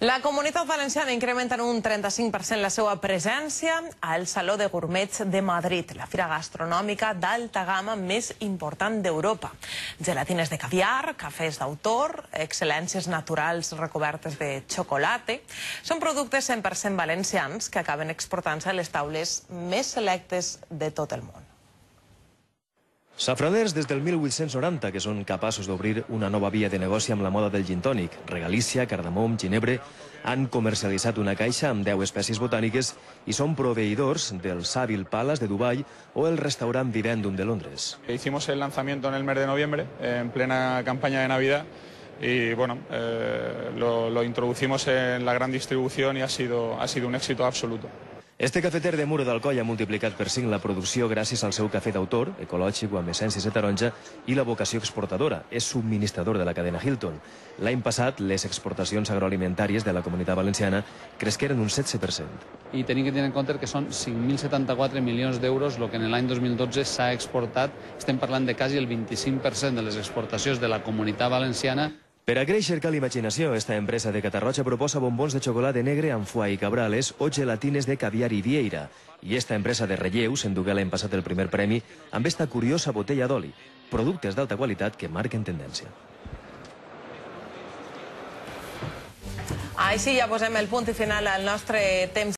La Comunitat Valenciana incrementa en un 35% la seva presència al Saló de Gourmets de Madrid, la fira gastronòmica d'alta gamma més important d'Europa. Gelatines de caviar, cafès d'autor, excel·lències naturals recobertes de xocolata. Són productes 100% valencians que acaben exportant-se a les taules més selectes de tot el món. Safraners des del 1890 que són capaços d'obrir una nova via de negoci amb la moda del gin tònic. Regalícia, cardamom, ginebre han comercialitzat una caixa amb 10 espècies botàniques i són proveïdors del Savile Palace de Dubai o el restaurant Vivendum de Londres. Hicimos el lanzamiento en el mes de noviembre, en plena campaña de Navidad, y bueno, lo introducimos en la gran distribución y ha sido un éxito absoluto. Este cafeter de Muro d'Alcoi ha multiplicat per 5 la producció gràcies al seu cafè d'autor, ecològic o amb essències de taronja, i la vocació exportadora. És subministrador de la cadena Hilton. L'any passat, les exportacions agroalimentàries de la Comunitat Valenciana cresqueren un 7%. I tenim que tenir en compte que són 5.074 milions d'euros el que en l'any 2012 s'ha exportat. Estem parlant de quasi el 25% de les exportacions de la Comunitat Valenciana. Per a créixer cal imaginació, esta empresa de Catarroja proposa bombons de xocolata negre amb foie i cabrales o gelatines de caviar i vieira. I esta empresa de Relleus endugué l'any passat el primer premi amb esta curiosa botella d'oli. Productes d'alta qualitat que marquen tendència. Així ja posem el punt i final al nostre temps